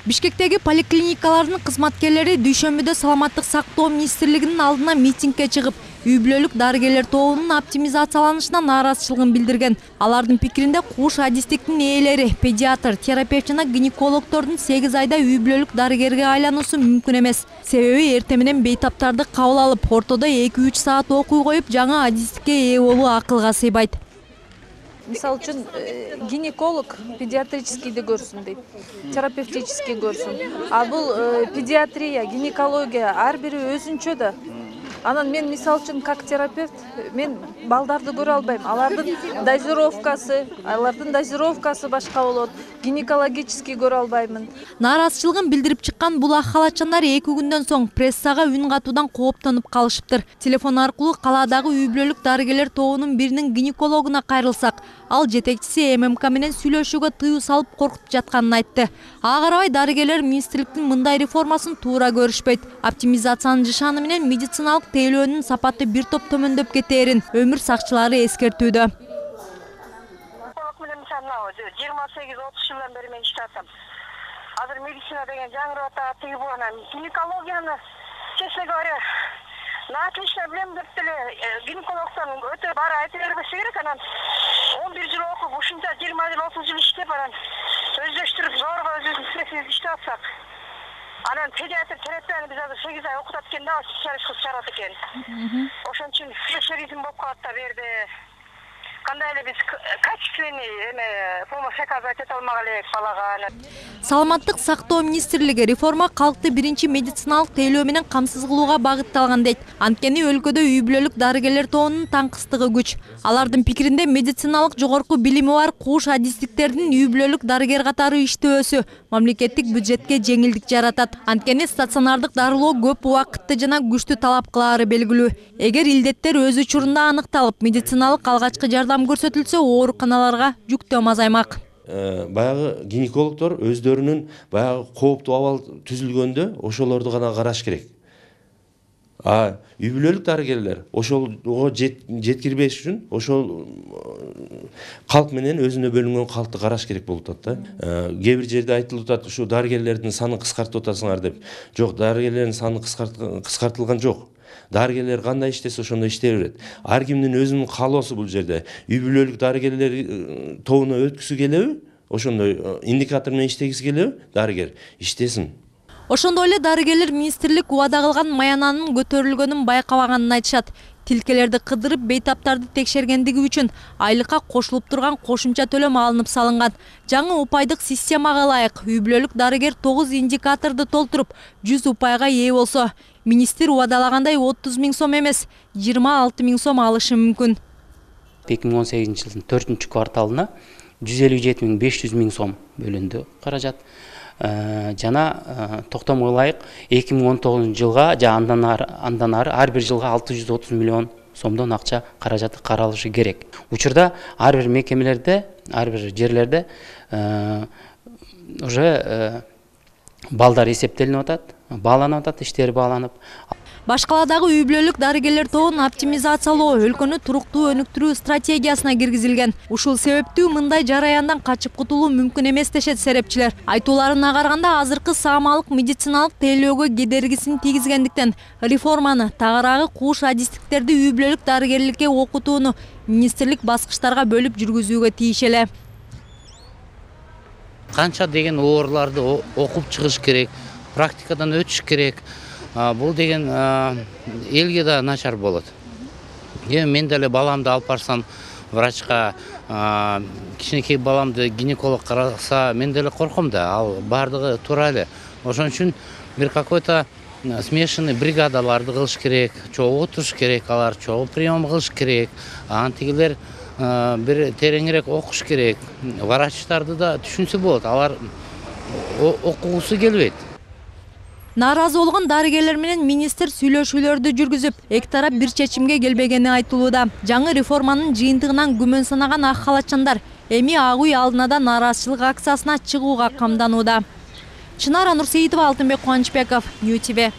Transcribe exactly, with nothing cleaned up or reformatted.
Бишкектеги поликлиникалардын кызматкерлери дүйшөмбүдө саламаттык сактоо министрлигинин алдына митингге чыгып, үй-бүлөлүк дарыгерлер тобунун оптимизацияланышына нааразычылыгын билдирген. Алардын пикиринде куш адистиктин ээлери, педиатр, терапевт жана гинекологдордун сегиз айда үй-бүлөлүк дарыгерге айлануусу мүмкүн эмес. Себеби эрте менен бейтаптарды кабыл алып, ортодо эки үч саат окуй коюп, жаңы адистикке ээ болуу акылга сыйбайт. Мисал үчүн гинеколог педиатрическийди көрсүн дейт, терапевтический көрсүн. А бул педиатрия, гинекология ар бири өзүнчө да. Анан мен мисал үчүн как терапевт мен балдарды көрө албайм. Алардын дозировкасы, алардын дозировкасы башка болот. Гинекологический көрө албаймын. Нааразычылыгын билдирип чыккан бул ак халатчандар эки күндөн соң прессага үн катуудан кооптонуп калышыптыр. Телефон аркылуу калаадагы үй-бүлөлүк дарыгерлер тобунун биринин гинекологуна кайрылсак, ал жетекчиси эм эм ка менен сүйлөшүүгө тыюу салып коркутуп жатканын айтты. Ага карабай дарыгерлер министрликтин мындай реформасын туура көрүшпөйт. Оптимизациянын жышааны менен медициналык тейлөөнүн сапаты бир топ төмөндөп кетээрин өмүр сакчылары эскертүүдө. жыйырма сегиз отуз жылдан бери мен иштеп атам. Азыр медицина деген жаңырып атат, тиги бул анан гинекологияны, честно говоря, на отлично билем деп деле гинекологдон өтө баары айтып бербесе керек. Анан он бир жыл окуп, ушунча жыйырма жыл отуз жыл иштеп, анан өздөштүрүп зорго өзүбүздүн стрессибизди иштеп атсак, анан педиатр терапияны биз азыр сегиз ай окутат экен да, специалист кылып чыгарат экен. Ошон үчүн фельдшеризм болуп калат да берди. Кандай эле биз качественный эме помощь оказать эте алмак элек балага. Саламаттык сактоо министрлиги реформа калкты биринчи медициналык тейлөө менен камсыз кылууга багытталган дейт. Анткени өлкөдө үй-бүлөлүк дарыгерлер тобунун таңкыстыгы күч. Алардын пикиринде медициналык жогорку билими бар куш адистиктердин үй-бүлөлүк дарыгер катары иштөөсү мамлекеттик бюджетке жеңилдик жаратат. Анткени стационардык дарылоо көп убакытты жана күчтүү талап кылаары белгилүү. Эгер илдеттер өз учурунда аныкталып, медициналык алгачкы жардам көрсөтүлсө, ооруканаларга жүктөм азаймак. Баягы гинекологдор өздөрүнүн баягы кооптуу абал түзүлгөндө ошолорду гана караш керек. А үй-бүлөлүк дарыгерлер ошолго жеткирбеш үчүн ошол калк менен өзүнө бөлүнгөн калкты караш керек болуп атат да. Кээ бир жерде айтылып атат, ушу дарыгерлердин санын кыскартып атасыңар деп. Жок, дарыгерлердин саны кыскартылган жок. Дарыгерлер кандай иштесе ошондой иштей берет. Ар кимдин өзүнүн каалоосу бул жерде. Үй-бүлөлүк дарыгерлер тобуна өткүсү келеби? Ошондой индикатор менен иштегиси келеби? Дарыгер иштесин. Ошондой эле дарыгерлер министрлик убада кылган маянанын көтөрүлгөнүн байкабаганын айтышат. Тилкелерди кыдырып, бейтаптарды текшергендиги үчүн айлыкка кошулуп турган кошумча төлөм алынып салынган. Жаңы упайдык системага ылайык үй-бүлөлүк дарыгер тогуз индикаторду толтуруп, жүз упайга ээ болсо, министр убадалагандай отуз миң сом эмес, жыйырма алты миң сом алышы мүмкүн. эки миң он сегизинчи жылдын төртүнчү кварталына жүз элүү жети миң беш жүз миң сом бөлүндү каражат. Жана токтомго ылайык эки миң он тогузунчу жылга жана андан ары андан ары ар бир жылга алты жүз отуз миллион сомдон акча каражаты каралышы керек. Учурда ар бир мекемелерде, ар бир жерлерде уже балдар эсептелинип атат, бааланып атат, иштери бааланып. Башкаладагы үй-бүлөлүк дарыгерлер тобун оптимизациялоо өлкөнү туруктуу өнүктүрүү стратегиясына киргизилген. Ушул себептүү мындай жараяндан качып кутулуу мүмкүн эмес дешет серепчилер. Айтууларына караганда азыркы саамалык медициналык тейлөөгө кедергисин тийгизгендиктен реформаны, тагыраагы куш адистиктерди үй-бүлөлүк дарыгерликке окутууну министрлик баскычтарга бөлүп жүргүзүүгө тийиш эле. Канча деген ооруларды окуп чыгыш керек, практикадан өтүш керек. Бул деген элге да начар болот. Эми мен деле баламды алып барсам врачка, кичинекей баламды гинеколог караса, мен деле корком да, ал бардыгы туура эле. Ошон үчүн бир какой-то смешанный бригадаларды кылыш керек, чогуу туруш керек, алар чогуу прием кылыш керек. Антигилер бир тереңирээк окуш керек. Врачтарды да түшүнсө болот, алар окугусу келбейт. Нааразы болгон дарыгерлер менен министр сүйлөшүүлөрдү жүргүзүп, эки тарап бир чечимге келбегени айтылууда. Жаңы реформанын жыйынтыгынан күмөн санаган ак халатчандар эми ак үй алдына да нааразычылык акциясына чыгууга камданууда. Чынара Нурсейитова, Алтынбек Кубанычбеков, Нью ти ви.